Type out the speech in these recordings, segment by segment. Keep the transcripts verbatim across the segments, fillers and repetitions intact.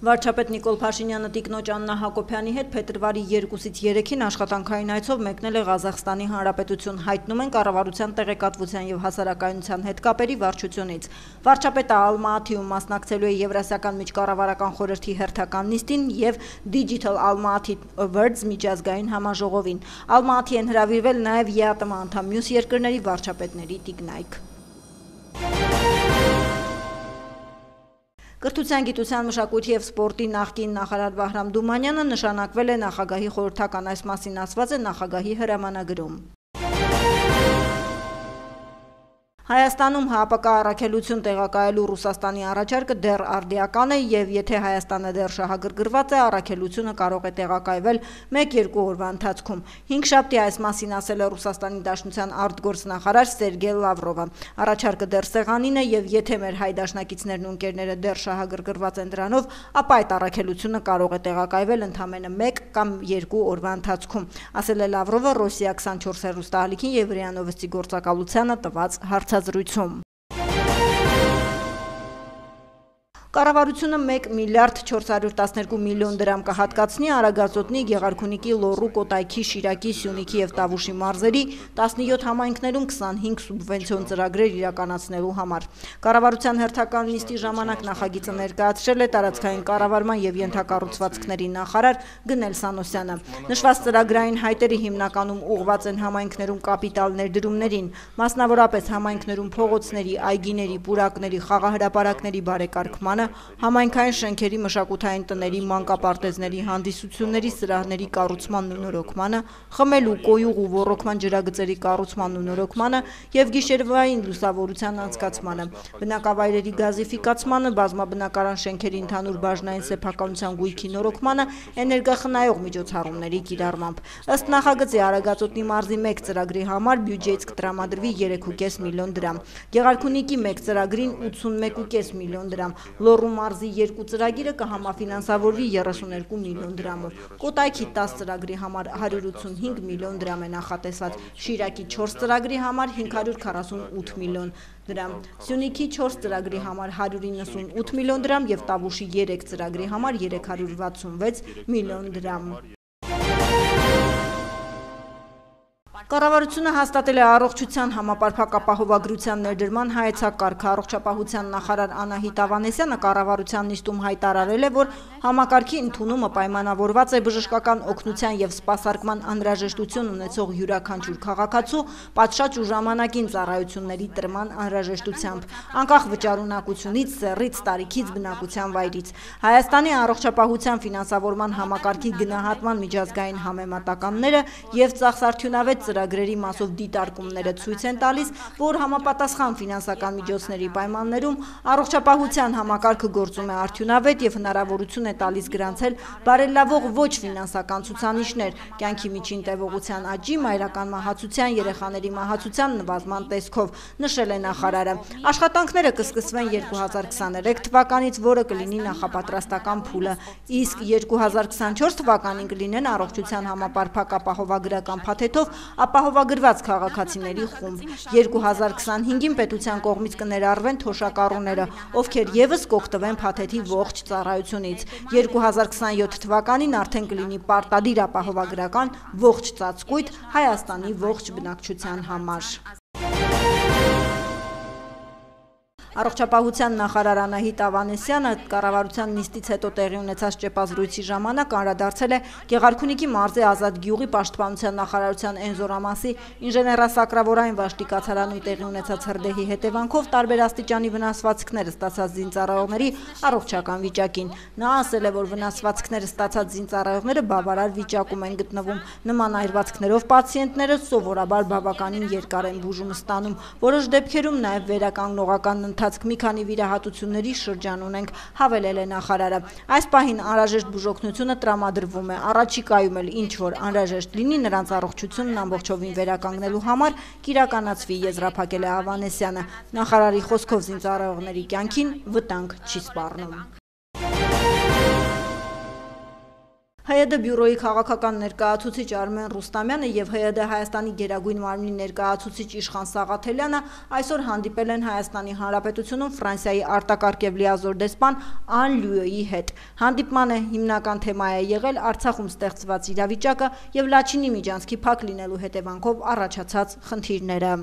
Վարչապետ Նիկոլ Փաշինյանը տիկնոջ Աննա Հակոբյանի հետ փետրվարի երկուսից երեքին աշխատանքային այցով մեկնել է Ղազախստանի Հանրապետություն, հայտնում են կառավարության տեղեկատվության եւ հասարակայնության հետ կապերի վարչությունից։ Վարչապետը Ալմաաթիում մասնակցելու է Եվրասիական միջկառավարական խորհրդի հերթական նիստին եւ Digital Almaty Awards միջազգային համաժողովին։ Ալմաաթի են հրավիրվել նաեւ ԵԱՏՄ անդամ մյուս երկրների վարչապետների տիկնայք։ Կրթության, գիտության, մշակույթի և սպորտի նախկին նախարար Վահրամ Դումանյանը նշանակվել է նախագահի խորհրդական, այս մասին ասված է նախագահի հրամանագրում։ Հայաստանում ՀԱՊԿ առաքելություն տեղակայելու Ռուսաստանի առաջարկը դեռ արդիական է եւ եթե Հայաստանը դեռ շահագրգռված է, առաքելությունը կարող է տեղակայվել մեկ-երկու օրվա ընթացքում։ Հինգշաբթի այս մասին ասել է Ռուսաստանի Դաշնության արտգործնախարար Սերգեյ Լավրովը։ Առաջարկը դեռ սեղանին է եւ եթե մեր հայ դաշնակիցներն ու ընկերները դեռ շահագրգռված են դրանով, ապա այդ առաքելությունը կարող է տեղակայվել ընդամենը մեկ կամ երկու օրվա ընթացքում, ասել է Լավրովը Ռոսիա քսանչորս հեռուստաալիքին եւ ՌԻԱ Նովոստի գործակալությանը տված հարցազրույցում։ Կառավարությունը մեկ միլիարդ չորս հարյուր տասներկու միլիոն դրամ կհատկացնի Արագածոտնի, Գեղարքունիքի, Լոռու, Կոտայքի, Շիրակի, Սյունիքի եւ Տավուշի մարզերի տասնյոթ համայնքներում քսանհինգ սուբվենցիոն ծրագրեր իրականացնելու համար։ Կառավարության հերթական նիստի ժամանակ նախագիծը ներկայացրել է տարածքային կառավարման եւ ենթակառուցվածքների նախարար Գնել Սանոսյանը։ Նշված ծրագրային հայտերը հիմնականում ուղղված են համայնքներում կապիտալ ներդրումներին, մասնավորապես համայնքներում փողոցների, այգիների, պուրակների, խաղահրապարակների բարեկարգման, համայնքային շենքերի, մշակութային տների, մանկապարտեզների, հանդիսությունների սրահների կառուցմանն ու նորոգմանը, խմելու, կոյուղ ու ոռոգման ջրագծերի կառուցմանն ու նորոգմանը եւ գիշերվային լուսավորության անցկացմանը, բնակավայրերի գազիֆիկացմանը, բազմաբնակարան շենքերի ընդհանուր բաժնային սեփականության գույքի նորոգմանը, էներգախնայող միջոցառումների կիրառմամբ։ Ըստ նախագծի Արագածոտնի մարզի մեկ ծրագրի համար բյուջեից կտրամադրվի երեք ու կես միլիոն դրամ, Գեղարքունիքի մեկ ծրագրին ութսունմեկ ու կես միլիոն դրամ, Լոռու մարզի երկու ծրագիրը կհամաֆինանսավորվի երեսուներկու միլիոն դրամով, Կոտայքի տասը ծրագրի համար հարյուր ութսունհինգ միլիոն դրամ է նախատեսված, Շիրակի չորս ծրագրի համար հինգ հարյուր քառասունութ միլիոն դրամ, Սյունիքի չորս ծրագրի համար հարյուր իննսունութ միլիոն դրամ եւ Տավուշի երեք ծրագրի համար երեք հարյուր վաթսունվեց միլիոն դրամ։ Կառավարությունը հաստատել է առողջության համապարփակ ապահովագրության ներդրման հայեցակարգը։ Առողջապահության նախարար Անահիտ Ավանեսյանը կառավարության նիստում հայտարարել է, որ համակարգի ընդունումը պայմանավորված է բժշկական օգնության եւ սպասարկման անհրաժեշտություն ունեցող յուրաքանչյուր քաղաքացու պատշաճ ու ժամանակին ծառայությունների տրման անհրաժեշտությամբ, անկախ վճարունակությունից, սեռից, տարիքից, բնակության վայրից։ Հայաստանի առողջապահության ֆինանսավորման համակարգի գնահատման միջազգային համեմատականները եւ ծախսարդյունավետ ծրագրերի մասով դիտարկումները ցույց են տալիս, որ համապատասխան ֆինանսական միջոցների պայմաններում առողջապահության համակարգը գործում է արդյունավետ եւ հնարավորություն է տալիս գրանցել բարելավող ոչ ֆինանսական ցուցանիշներ, կյանքի միջին տևողության աճի, մայրական մահացության, երեխաների մահացության նվազման տեսքով, նշել է նախարարը։ Աշխատանքները կսկսվեն երկու հազար քսաներեք թվականից, որը կլինի նախապատրաստական փուլը, իսկ երկու հազար քսանչորս թվականին կլինեն առողջության համապարփակ ապահովագրական փաթեթով ապահովագրված քաղաքացիների խումբ։ երկու հազար քսանհինգին պետության կողմից կներառվեն թոշակառուները, ովքեր եւս կօգտվեն փաթեթի ողջ ծառայությունից։ երկու հազար քսանյոթ թվականին արդեն կլինի պարտադիր ապահովագրական ողջ ծածկույթ Հայաստանի ողջ բնակչության համար։ Առողջապահության նախարար Անահիտ Ավանեսյանը կառավարության նիստից հետո տեղի ունեցած ճեպազրույցի ժամանակ անդրադարձել է Գեղարքունիքի մարզի Ազատ գյուղի պաշտպանության նախարարության Էնզորամասի ինժեներասակրավորային վաշտի կացարանում տեղի ունեցած հրդեհի հետևանքով տարբեր աստիճանի վնասվածքներ ստացած զինծառայողների առողջական վիճակին։ Նա ասել է, որ վնասվածքներ ստացած զինծառայողները բավարար վիճակում են գտնվում։ Նման այրվածքներով պացիենտները սովորաբար բավականին երկար են բուժում ստանում, որոշ դեպքերում նաև վերականգնողական ընթացք մի քանի վիրահատությունների շրջան ունենք, հավելել է նախարարը։ Այս պահին անհրաժեշտ բուժօգնությունը տրամադրվում է, առաջիկայում էլ ինչ որ անհրաժեշտ լինի նրանց առողջությունն ամբողջովին վերականգնելու համար կիրականացվի, եզրափակել է Ավանեսյանը։ Նախարարի խոսքով զինծառայողների կյանքին վտանգ չի սպառնում։ Հ Յ D բյուրոյի քաղաքական ներկայացուցիչ Արմեն Ռուստամյանը եւ Հ Յ D Հայաստանի գերագույն մարմնի ներկայացուցիչ Իշխան Սաղաթելյանը այսօր հանդիպել են Հայաստանի Հանրապետությունում Ֆրանսիայի արտակարգ եւ լիազոր դեսպան Ան Լյուոյի հետ։ Հանդիպմանը հիմնական թեմա է եղել Արցախում ստեղծված իրավիճակը եւ Լաչինի միջանցքի փակ լինելու հետևանքով առաջացած խնդիրները։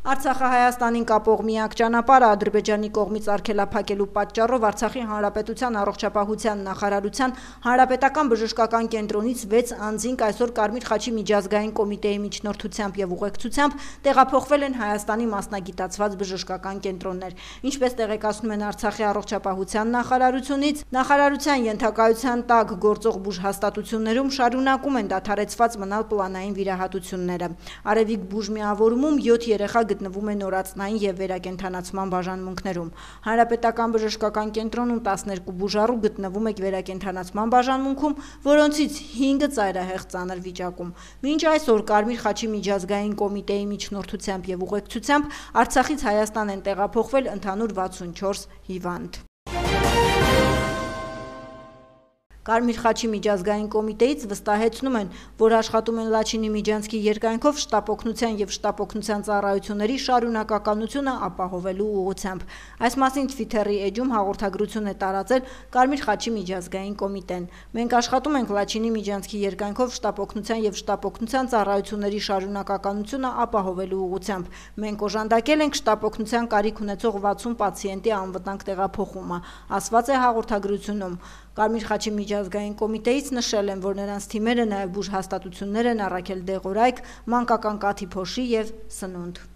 Արցախը Հայաստանին կապող միակ ճանապարհը Ադրբեջանի կողմից արգելափակելու պատճառով Արցախի Հանրապետության առողջապահության նախարարության հանրապետական բժշկական կենտրոնից վեց անձինք այսօր Կարմիր խաչի միջազգային կոմիտեի միջնորդությամբ եւ ուղեկցությամբ տեղափոխվել են Հայաստանի մասնագիտացված բժշկական կենտրոններ։ Ինչպես տեղեկացնում են Արցախի առողջապահության նախարարությունից, նախարարության ենթակայության տակ գործող բուժհաստատություններում շարունակում են դադարեցված մնալ պլանային վիրահատությունները։ Արևիկ բուժմիավորումում յոթ երեխա գտնվում է նորածնային եւ վերակենդանացման բաժանմունքներում։ Հանրապետական բժշկական կենտրոնում տասներկու բուժառու գտնվում է վերակենդանացման բաժանմունքում, որոնցից հինգը ծայրահեղ ծանր վիճակում։ Մինչ այսօր Կարմիր խաչի միջազգային կոմիտեի միջնորդությամբ եւ ուղեկցությամբ Արցախից Հայաստան են տեղափոխվել ընդհանուր վաթսունչորս հիվանդ։ Կարմիր խաչի միջազգային կոմիտեից վստահեցնում են, որ աշխատում են Լաչինի միջանցքի երկայնքով շտապօգնության եւ շտապօգնության ծառայությունների շարունակականությունը ապահովելու ուղղությամբ։ Այս մասին Twitter-ի էջում հաղորդագրություն է տարածել Կարմիր խաչի միջազգային կոմիտեն։ Մենք աշխատում ենք Լաչինի միջանցքի երկայնքով շտապօգնության եւ շտապօգնության ծառայությունների շարունակականությունը ապահովելու ուղղությամբ։ Մենք օժանդակել ենք շտապօգնության կարիք ունեցող վաթսուն պացիենտի անվտանգ տեղափոխումը, ասված է հաղորդագրությունում։ Կարմիր խաչի միջազգային կոմիտեից նշել են, որ նրանց թիմերը նաև բուժհաստատություններ են առաքել դեղորայք, մանկական կաթի փոշի եւ սնունդ։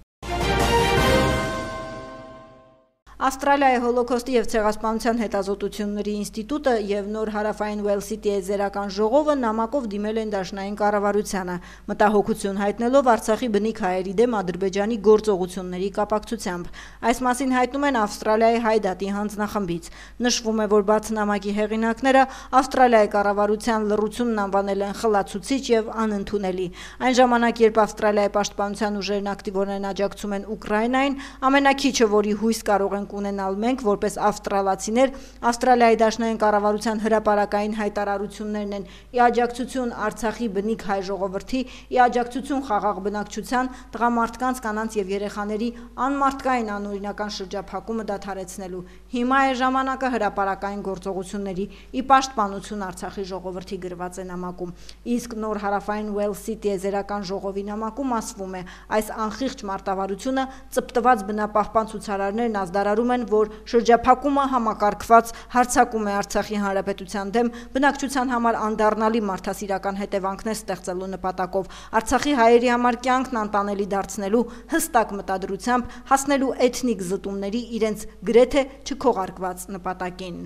Ավստրալիայի հոլոքոստի եւ ցեղասպանության հետազոտությունների ինստիտուտը եւ Նոր հարավային Ուելսի տիեզերական ժողովը նամակով դիմել են դաշնային կառավարությանը, մտահոգություն հայտնելով Արցախի բնիկ հայերի դեմ Ադրբեջանի գործողությունների կապակցությամբ։ Այս մասին հայտնում են Ավստրալիայի Հայդատի հանձնախմբից։ Նշվում է, որ բաց նամակի հեղինակները Ավստրալիայի կառավարության լռությունն անվանել են խլացուցիչ եւ անընդունելի։ Այն ժամանակ, երբ Ավստրալիայի պաշտպանության ուժերն ակտիվորեն աջակցում են Ուկրաինային, ամենակիչը, որի հույս կարող են ունենալ մենք որպես ավստրալացիներ, Ավստրալիայի դաշնային կառավարության հրապարակային հայտարարություններն են՝ ի աջակցություն Արցախի բնիկ հայ ժողովրդի, ի աջակցություն խաղաղ բնակչության, տղամարդկանց, կանանց եւ երեխաների անմարդկային անօրինական շրջափակումը դադարեցնելու։ Հիմա է ժամանակը հրապարակային գործողությունների, ի պաշտպանություն Արցախի ժողովրդի գրված է նամակում։ Իսկ Նոր հարավային Ուելսի տիեզերական ժողովի նամակում ասվում է, այս անխիղճ մարտավարությունը ծպտված բնապահպան ցուցարարներն ազդարարում են, որ շրջափակումը համակարգված հարձակում է Արցախի հանրապետության դեմ բնակչության համար անդառնալի մարդասիրական հետևանքներ ստեղծելու նպատակով, Արցախի հայերի համար կյանքն անտանելի դարձնելու հստակ մտադրությամբ հասնելու էթնիկ զտումների իրենց գրեթե չքողարկված նպատակին։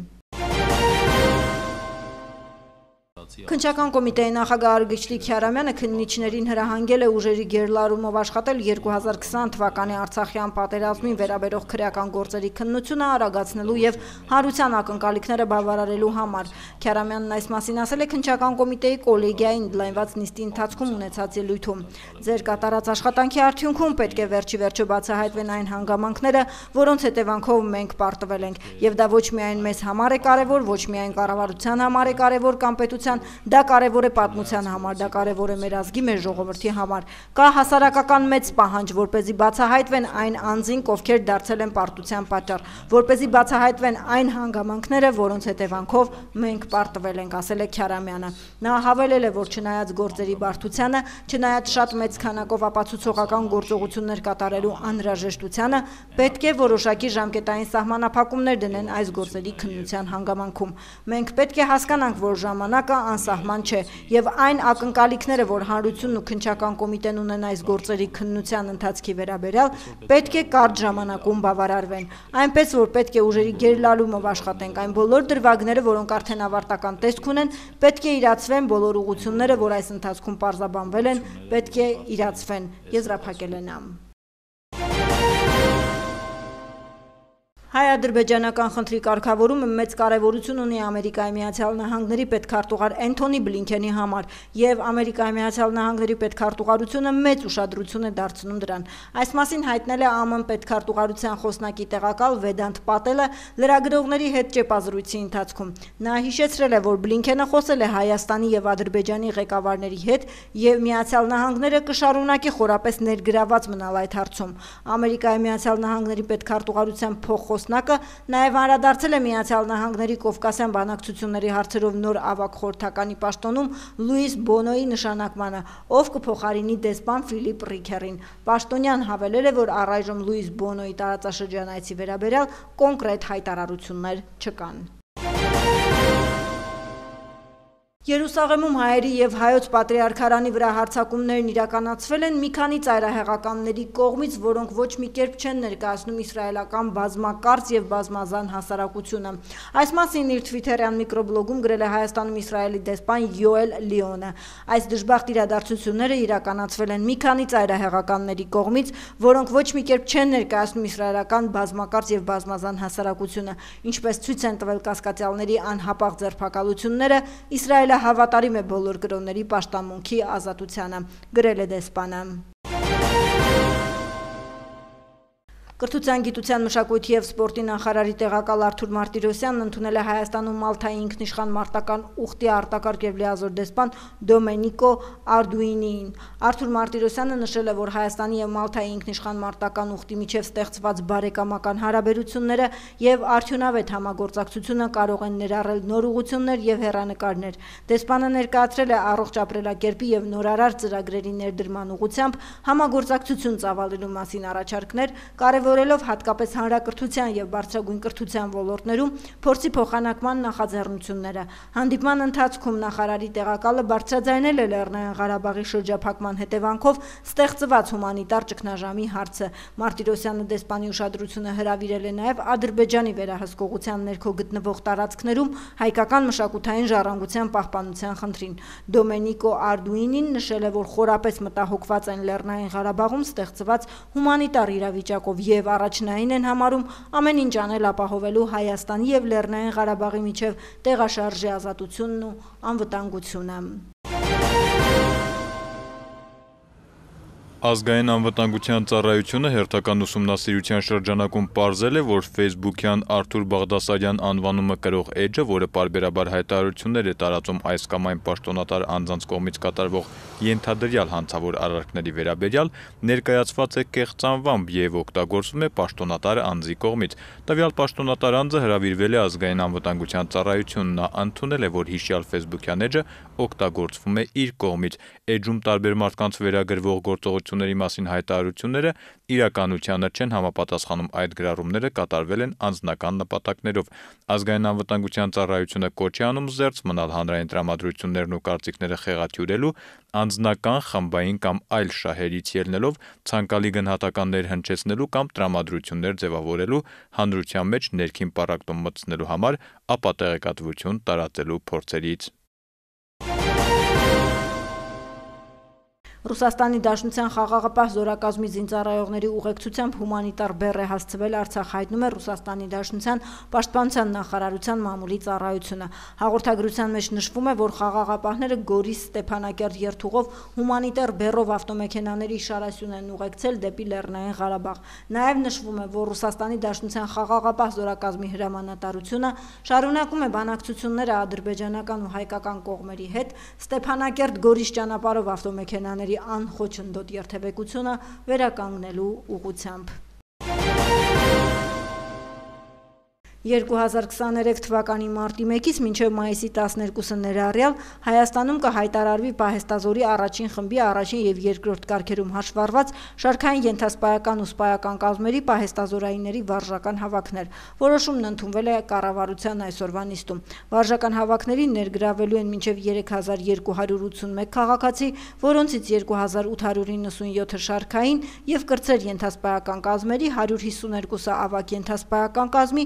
Քննչական կոմիտեի նախագահ Արգիշտիկ Քյարամյանը քննիչներին հրահանգել է ուժերի գերլարումով աշխատել երկու հազար քսան թվականի Արցախյան պատերազմին վերաբերող քրեական գործերի քննությունը արագացնելու եւ հանրության ակնկալիքները բավարարելու համար։ Քյարամյանն այս մասին ասել է քննչական կոմիտեի կոլեգիային ընդլայնված նիստի ընթացքում ունեցած ելույթում։ Ձեր կատարած աշխատանքի արդյունքում պետք է վերջի վերջո բացահայտվեն այն հանգամանքները, որոնց հետևանքով մենք պարտվել ենք, եւ դա ոչ միայն մեզ համար է կարեւոր, ոչ միայն կառավարության համար է կարեւոր կամ պետության, դա կարևոր է պատմության համար, դա կարևոր է մեր ազգի, մեր ժողովրդի համար։ Կա հասարակական մեծ պահանջ, որպեսզի բացահայտվեն այն անձինք, ովքեր դարձել են պարտության պատճառ, որպեսզի բացահայտվեն այն հանգամանքները, որոնց հետևանքով մենք պարտվել ենք, ասել է Քյարամյանը։ Նա հավելել է, որ չնայած գործերի բարդությանը, չնայած շատ մեծ քանակով ապացուցողական գործողություններ կատարելու անհրաժեշտությանը, պետք է որոշակի ժամկետային սահմանափակումներ դնեն այս գործերի քննության հանգամանքում։ Մենք պետք է հասկանանք, որ ժամանակը անսահման չէ, եւ այն ակնկալիքները, որ հանրությունն ու քննչական կոմիտեն ունեն այս գործերի քննության ընթացքի վերաբերյալ, պետք է կարճ ժամանակում բավարարվեն։ Այնպես որ պետք է ուժերի գերլարումով աշխատենք, այն բոլոր դրվագները, որոնք արդեն ավարտական տեսք ունեն, պետք է իրացվեն, բոլոր ուղղությունները, որ այս ընթացքում պարզաբանվել են, պետք է իրացվեն, եզրափակել է նա։ Հայ-ադրբեջանական խնդրի կարգավորումը մեծ կարևորություն ունի Ամերիկայի Միացյալ Նահանգների պետքարտուղար Էնթոնի Բլինքենի համար, եւ Ամերիկայի Միացյալ Նահանգների պետքարտուղարությունը մեծ ուշադրություն է դարձնում դրան։ Այս մասին հայտնել է ԱՄՆ պետքարտուղարության խոսնակի տեղակալ Վեդանտ Պատելը լրագրողների հետ ճեպազրույցի ընթացքում։ Նա հիշեցրել է, որ Բլինքենը խոսել է Հայաստանի եւ Ադրբեջանի ղեկավարների հետ եւ Միացյալ Նահանգները կշարունակի խորապես ներգրաված մնալ այդ հարցում։ Ամերիկայի Միացյալ Նահանգների պետքարտուղարության փոխխոսնակը նաև անդրադարձել է Միացյալ Նահանգների Կովկասյան բանակցությունների հարցերով նոր ավագ խորհրդականի պաշտոնում Լուիս Բոնոյի նշանակմանը, ով կփոխարինի դեսպան Ֆիլիպ Ռիքերին։ Պաշտոնյան հավելել է, որ առայժմ Լուիս Բոնոյի տարածաշրջան այցի վերաբերյալ կոնկրետ հայտարարություններ չկան։ Երուսաղեմում հայերի եւ հայոց պատրիարքարանի վրա հարձակումներն իրականացվել են մի քանի ծայրահեղականների կողմից, որոնք ոչ մի կերպ չեն ներկայացնում իսրայելական բազմակարծ եւ բազմազան հասարակությունը։ Այս մասին իր Twitter-յան միկրոբլոգում գրել է Հայաստանում Իսրայելի դեսպան Յոել Լիոնը։ Այս դժբախտ իրադարձությունները իրականացվել են մի քանի ծայրահեղականների կողմից, որոնք ոչ մի կերպ չեն ներկայացնում իսրայելական բազմակարծ եւ բազմազան հասարակությունը, ինչպես ցույց են տվել կասկածյալների անհապաղ ձերբակալությունները, Իսրայելը հավատարիմ է բոլոր կրոնների պաշտամունքի ազատությանը, գրել է դեսպանը։ Կրթության, գիտության, մշակույթի եւ սպորտի նախարարի տեղակալ Արթուր Մարտիրոսյանն ընդունել է Հայաստանում Մալթայի ինքնիշխան մարտական ուխտի արտակարգ եւ լիազոր դեսպան Դոմենիկո Արդուինիին։ Արթուր Մարտիրոսյանը նշել է, որ Հայաստանի եւ Մալթայի ինքնիշխան մարտական ուխտի միջև ստեղծված բարեկամական հարաբերությունները եւ արդյունավետ համագործակցությունը կարող են ներառել նոր ուղղություններ եւ հեռանկարներ։ Դեսպանը ներկայացրել է առողջ ապրելակերպի եւ նորարար ծրագրերի ներդրման ուղղությամբ համագործակցություն ծավալելու մասին առաջարկներ, կարևորելով հատկապես հանրակրթության եւ բարձրագույն կրթության ոլորտներում փորձի փոխանակման նախաձեռնությունները։ Հանդիպման ընթացքում նախարարի տեղակալը բարձրաձայնել է Լեռնային Ղարաբաղի շրջափակման հետևանքով ստեղծված հումանիտար ճգնաժամի հարցը։ Մարտիրոսյանը դեսպանի ուշադրությունը հրավիրել է նաեւ Ադրբեջանի վերահսկողության ներքո գտնվող տարածքներում հայկական մշակութային ժառանգության պահպանության խնդրին։ Դոմենիկո Արդուինին նշել է, որ խորապես մտահոգված են Լեռնային Ղարաբաղում ստեղծված հումանիտար իրավիճակով եւ առաջնային են համարում ամեն ինչ անել ապահովելու Հայաստանի եւ Լեռնային Ղարաբաղի միջև տեղաշարժի ազատությունն ու անվտանգությունը։ Ազգային անվտանգության ծառայությունը հերթական ուսումնասիրության շրջանակում պարզել է, որ Facebook-յան Արթուր Բաղդասարյան անվանումը կրող էջը, որը պարբերաբար հայտարարություններ է տարածում այս կամ այն պաշտոնատար անձանց կողմից կատարվող ենթադրյալ հանցավոր արարքների վերաբերյալ, ներկայացված է կեղծ անվամբ եւ օգտագործվում է պաշտոնատար անձի կողմից։ Տվյալ պաշտոնատար անձը հրավիրվել է Ազգային անվտանգության ծառայությունն, նա ընդունել է, որ հիշյալ Facebook-յան էջը օգտագործվում է իր կողմից։ Էջում տարբեր մարդկանց վերագրվող գործողությունների մասին հայտարարությունները իրականությանը չեն համապատասխանում, այդ գրառումները կատարվել են անձնական նպատակներով։ Ազգային անվտանգության ծառայությունը կոչ է անում զերծ մնալ հանրային տրամադրություններն ու կարծիքները խեղաթյուրելու, անձնական, խմբային կամ այլ շահերից ելնելով ցանկալի գնահատականներ հնչեցնելու կամ տրամադրություններ ձևավորելու, հանրության մեջ ներքին պառակտում մտցնելու համար, ապա տեղեկատվություն տարածելու փորձերից։ Ռուսաստանի Դաշնության խաղաղապահ զորակազմի զինծառայողների ուղեկցությամբ հումանիտար բեռ է հասցվել Արցախ, հայտնում է Ռուսաստանի Դաշնության պաշտպանության նախարարության մամուլի ծառայությունը։ Հաղորդագրության մեջ նշվում է, որ խաղաղապահները Գորիս Ստեփանակերտ երթուղով հումանիտար բեռով ավտոմեքենաների շարասյուն են ուղեկցել դեպի Լեռնային Ղարաբաղ։ Նաև նշվում է, որ Ռուսաստանի Դաշնության խաղաղապահ զորակազմի հրամանատարությունը շարունակում է բանակցությունները ադրբեջանական ու հայկական կողմերի հետ Ստեփանակերտ Գորիս ճանապարհով ավտոմեքենաների անխոչնդոտ երթևեկությունը վերականգնելու ուղղությամբ։ երկու հազար քսաներեք թվականի մարտի մեկից մինչև մայիսի տասներկուսը ներառյալ Հայաստանում կհայտարարվի պահեստազորի առաջին խմբի առաջին եւ երկրորդ կարգերում հաշվառված շարքային ենթասպայական ու սպայական կազմերի պահեստազորայինների վարժական հավաքներ։ Որոշումն ընդունվել է կառավարության այսօրվա նիստում։ Վարժական հավաքներին ներգրավվելու են մինչև երեք հազար երկու հարյուր ութսունմեկ քաղաքացի, որոնցից երկու հազար ութ հարյուր իննսունյոթը շարքային եւ կրտսեր ենթասպայական կազմերի, հարյուր հիսուներկուսը ավագ ենթասպայական կազմի,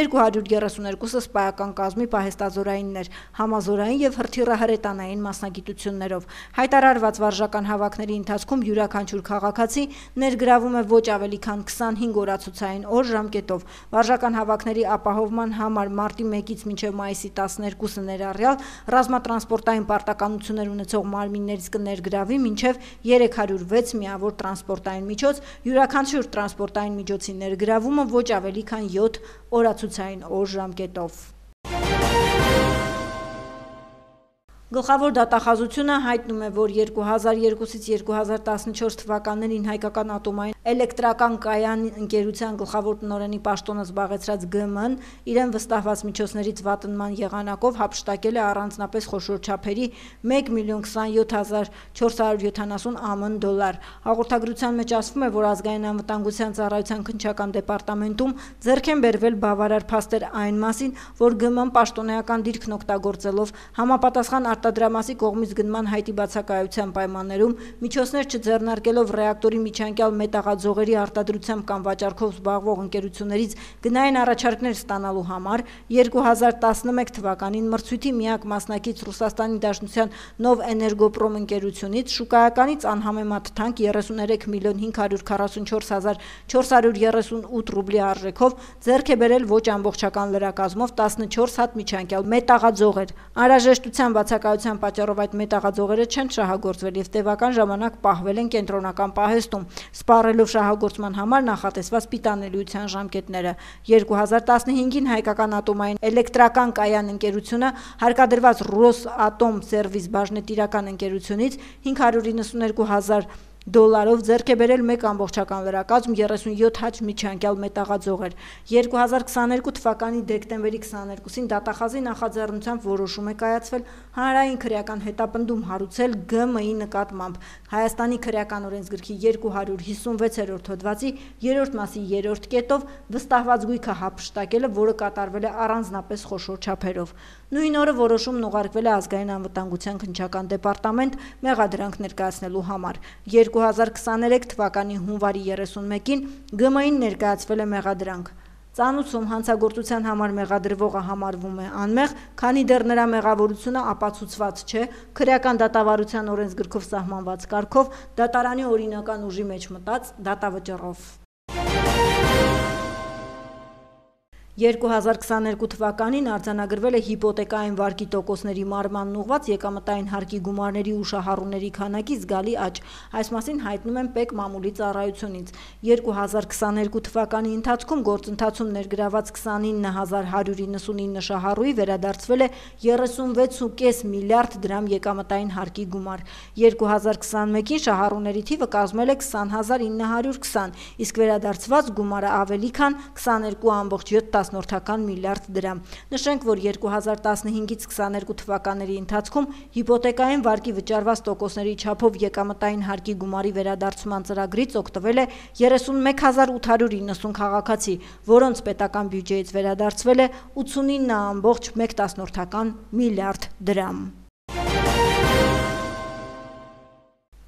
երկու հարյուր երեսուներկուսը սպայական կազմի պահեստազորայիններ, համազորային եւ հրթիռահրետանային մասնագիտություններով։ Հայտարարված վարժական հավաքների ընթացքում յուրաքանչյուր քաղաքացի ներգրավում է ոչ ավելի քան քսանհինգ օրացուցային օր ժամկետով։ Վարժական հավաքների ապահովման համար մարտի մեկից մինչև մայիսի տասներկուսը ներառյալ ռազմատրանսպորտային պարտականություններ ունեցող մարմիններից կներգրավի մինչև երեք հարյուր վեց միավոր տրանսպորտային միջոց, յուրաքանչյուր տրանսպորտային միջոցի ներգրավումը ոչ ավելի քան յոթ օրացուցային օր ժամկետով։ Գլխավոր դատախազությունը հայտնում է, որ երկու հազար երկուսից երկու հազար տասնչորս թվականներին հայկական ատոմային էլեկտրական կայան ընկերության գլխավոր տնօրենի պաշտոնը զբաղեցրած Գ Մ-ն իրեն վստահված միջոցներից վատնման եղանակով հափշտակել է առանձնապես խոշոր չափերի մեկ միլիոն քսանյոթ հազար չորս հարյուր յոթանասուն ԱՄՆ դոլար։ Հաղորդագրության մեջ ասվում է, որ ազգային անվտանգության ծառայության քննչական դեպարտամենտում ձեռք են բերվել բավարար փաստեր այն մասին, որ Գ Մ-ն պաշտոնեական դիրքն օգտագործելով համապատասխան արտադրամասի կողմից գնման հայտի բացակայության պայմաններում միջոցներ չձեռնարկելով ռեակտորի միջանկյալ մետաղաձողերի արտադրությամբ կամ վաճառքով զբաղվող ընկերություններից գնային առաջարկներ ստանալու համար երկու հազար տասնմեկ թվականին մրցույթի միակ մասնակից Ռուսաստանի Դաշնության Նով Էներգոպրոմ ընկերությունից շուկայականից անհամեմատ թանկ երեսուներեք միլիոն հինգ հարյուր քառասունչորս հազար չորս հարյուր երեսունութ ռուբլի արժեքով ձեռք է բերել ոչ ամբողջական լրակազմով տասնչորս հատ միջանկյալ մետաղաձողեր։ Անհրաժեշտության բացակայության պատճառով այդ մետաղաձողերը չեն շահագործվել եւ տևական ժամանակ պահվել են կենտրոնական պահեստում, սպառելով շահագործման համար նախատեսված պիտանելիության ժամկետները։ երկու հազար տասնհինգին հայկական ատոմային էլեկտրական կայան ընկերությունը հարկադրված Ռոսատոմ սերվիս բաժնետիրական ընկերությունից հինգ հարյուր իննսուներկու հազար դոլարով ձեռք է բերել մեկ ամբողջական լրակազմ երեսունյոթ հատ միջանկյալ մետաղաձողեր։ երկու հազար քսաներկու թվականի դեկտեմբերի քսաներկուսին դատախազի նախաձեռնությամբ որոշում է կայացվել հանրային քրեական հետապնդում հարուցել Գ Մ-ի նկատմամբ Հայաստանի քրեական օրենսգրքի երկու հարյուր հիսունվեցերորդ հոդվածի երրորդ մասի երրորդ կետով վստահված գույքը հափշտակելը, որը կատարվել է առանձնապես խոշոր չափերով։ Նույն օրը որոշումն ուղարկվել է ազգային անվտանգության քննչական դեպարտամենտ մեղադրանք ներկայացնելու համար։ երկու հազար քսաներեք թվականի հունվարի երեսունմեկին Գ Մ-ին ներկայացվել է մեղադրանք։ Ծանուցում հանցագործության համար մեղադրվողը համարվում է անմեղ, քանի դեռ նրա մեղավորությունը ապացուցված չէ քրեական դատավարության օրենսգրքով սահմանված կարգով դատարանի օրինական ուժի մեջ մտած դատավճռով։ երկու հազար քսաներկու թվականին արձանագրվել է հիպոթեկային վարկի տոկոսների մարմանն ուղղված եկամտային հարկի գումարների ու շահառուների քանակի զգալի աճ։ Այս մասին հայտնում են Պ E Կ մամուլի ծառայությունից։ երկու հազար քսաներկու թվականի ընթացքում գործընթացում ներգրաված քսանինը հազար հարյուր իննսունինը շահառուի վերադարձվել է երեսունվեց ու կես միլիարդ դրամ եկամտային հարկի գումար։ երկու հազար քսանմեկին շահառուների թիվը կազմել է քսան հազար ինը հարյուր քսան, իսկ վերադարձված գումարը ավելի քան քսաներկու ամբողջ յոթ միլիարդ դրամ։ Նշենք, որ երկու հազար տասնհինգից քսաներկու թվականների ընթացքում հիպոթեկային վարկի վճարված տոկոսների չափով եկամտային հարկի գումարի վերադարձման ծրագրից օգտվել է երեսունմեկ հազար ութ հարյուր իննսուն քաղաքացի, որոնց պետական բյուջեից վերադարձվել է ութսունինը ամբողջ մեկ միլիարդ դրամ։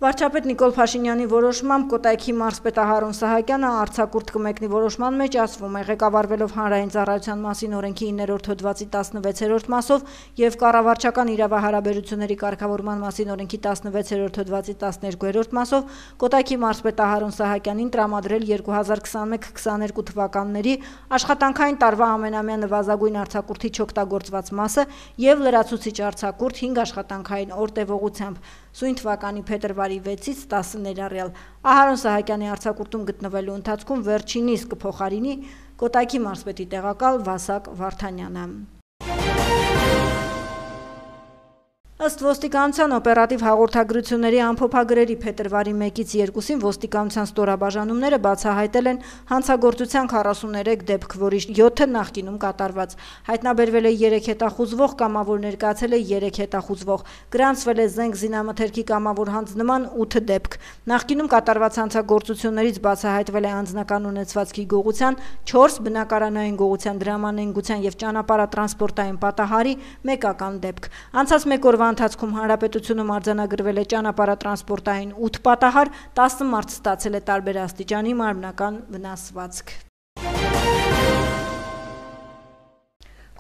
Վարչապետ Նիկոլ Փաշինյանի որոշմամբ Կոտայքի մարզպետ Ահարոն Սահակյանը արձակուրդ կմեկնի որոշման մեջ ասվում է ղեկավարվելով հանրային ծառայության մասին օրենքի իններորդ հոդվածի տասնվեցերորդ մասով եւ կառավարչական իրավահարաբերությունների կարգավորման մասին օրենքի տասնվեցերորդ հոդվածի տասներկուերորդ մասով Կոտայքի մարզպետ Ահարոն Սահակյանին տրամադրել երկու հազար քսանմեկ քսաներկու թվականների աշխատանքային տարվա ամենամյա նվազագույն արձակուրդի չօգտագործված մասը եւ լրացուցիչ արձակուրդ հինգ աշխատանքային օր տևողությամբ։ Սույն թվականի փետրվարի վեցից տասը ներառյալ Ահարոն Սահակյանի արձակուրդում գտնվելու ընթացքում վերջինիս կփոխարինի Կոտայքի մարզպետի տեղակալ Վասակ Վարդանյանը։ Ըստ ոստիկանության օպերատիվ հաղորդագրությունների ամփոփագրերի փետրվարի մեկից երկուսին ոստիկանության ստորաբաժանումները բացահայտել են հանցագործության քառասուներեք դեպք, որի յոթը նախկինում կատարված։ Հայտնաբերվել է երեք հետախուզվող, կամավոր ներկայացել է երեք հետախուզվող, գրանցվել է զենք զինամթերքի կամավոր հանձնման ութ դեպք։ Նախկինում կատարված հանցագործություններից բացահայտվել է անձնական ունեցվածքի գողության, չորս բնակարանային գողության, դրամանենգության եւ ճանապարհատրանսպորտային պատահարի մեկական դեպք։ Անցած մեկ օրվա ընթացքում հանրապետությունում արձանագրվել է ճանապարհատրանսպորտային ութ պատահար, տասը մարդ ստացել է տարբեր աստիճանի մարմնական վնասվածք։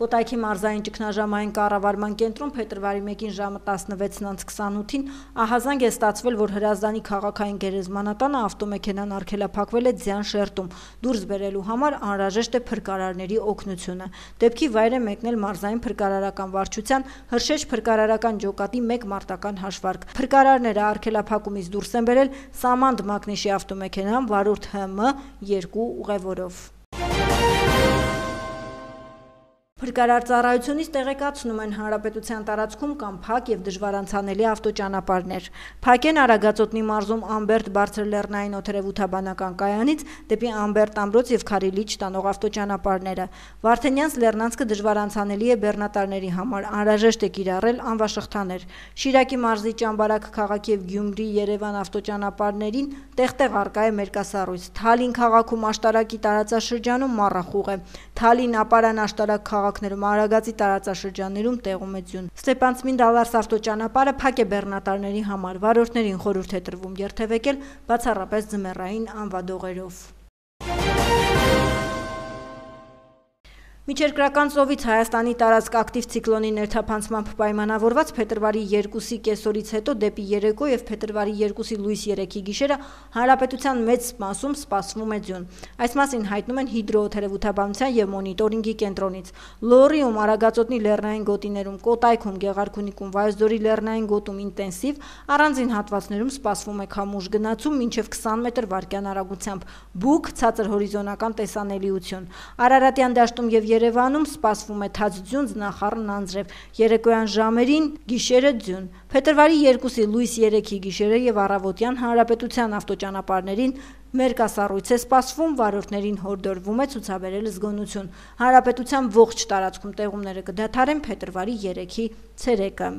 Կոտայքի մարզային ճգնաժամային կառավարման կենտրոն փետրվարի մեկին ժամը տասնվեցն անց քսանութին ահազանգ է ստացվել, որ Հրազդանի քաղաքային գերեզմանատանը ավտոմեքենան արգելափակվել է ձյան շերտում։ Դուրս բերելու համար անհրաժեշտ է փրկարարների օգնությունը։ Դեպքի վայր է մեկնել մարզային փրկարարական վարչության Հրշեջ փրկարարական ջոկատի մեկ մարտական հաշվարկ։ Փրկարարները արգելափակումից դուրս են բերել Սամանդ Մակնիշի ավտոմեքենան վարորդ Հ M երկու ուղևորով։ Փրկարար ծառայությունից տեղեկացնում են հանրապետության տարածքում կամ փակ եւ դժվար անցանելի ավտոճանապարհներ։ Փակ են Արագածոտնի մարզում Ամբերտ բարձրլեռնային օդերևութաբանական կայանից դեպի Ամբերտ ամրոց եւ Քարիլիչ տանող ավտոճանապարհները։ Վարդենյանց Լեռնանցքը դժվար անցանելի է բեռնատարների համար, անհրաժեշտ է կիրառել անվաշղթաներ։ Շիրակի մարզի Ճամբարակ քաղաքի եւ Գյումրի Երևան ավտոճանապարհներին տեղ-տեղ արկա է մերկասառույց։ Թալին քաղաքում աշտարակի տարածաշրջանում մառախուղ է։ Թալին ապարան աշտարակ քաղաքներում Արագածի տարածաշրջաններում տեղում է ձյուն։ Ստեփանցմին-Դալարս ավտոճանապարհը փակ է բեռնատարների համար, վարորդներին խորհուրդ է տրվում երթևեկել բացառապես ձմեռային անվադողերով։ Միջերկրական ծովից Հայաստանի տարածք ակտիվ ցիկլոնի ներթափանցմամբ պայմանավորված փետրվարի երկուսի կեսօրից հետո դեպի երեկո եւ փետրվարի երկուսի լույս երեքի գիշերը հանրապետության մեծ մասում սպասվում է ձյուն։ Այս մասին հայտնում են հիդրոօդերևութաբանության եւ մոնիտորինգի կենտրոնից։ Լոռիում, Արագածոտնի լեռնային գոտիներում, Կոտայքում, Գեղարքունիքում, Վայոց ձորի լեռնային գոտում ինտենսիվ, առանձին հատվածներում սպասվում է քամուշ գնացում մինչեւ քսան մետր վարկյան արագությամբ, բուք, ցածր հորիզոնական տեսանելիություն։ Արարատյան դաշտում եւ Երևանում սպասվում է թաց ձյուն, ձնախառն անձրև, երեկոյան ժամերին գիշերը ձյուն։ Փետրվարի երկուսի լույս երեքի գիշերը եւ առավոտյան հանրապետության ավտոճանապարհներին մերկասառույց է սպասվում, վարորդներին հորդորվում է ցուցաբերել զգոնություն։ Հանրապետության ողջ տարածքում տեղումները կդադարեն փետրվարի երեքի ցերեկը։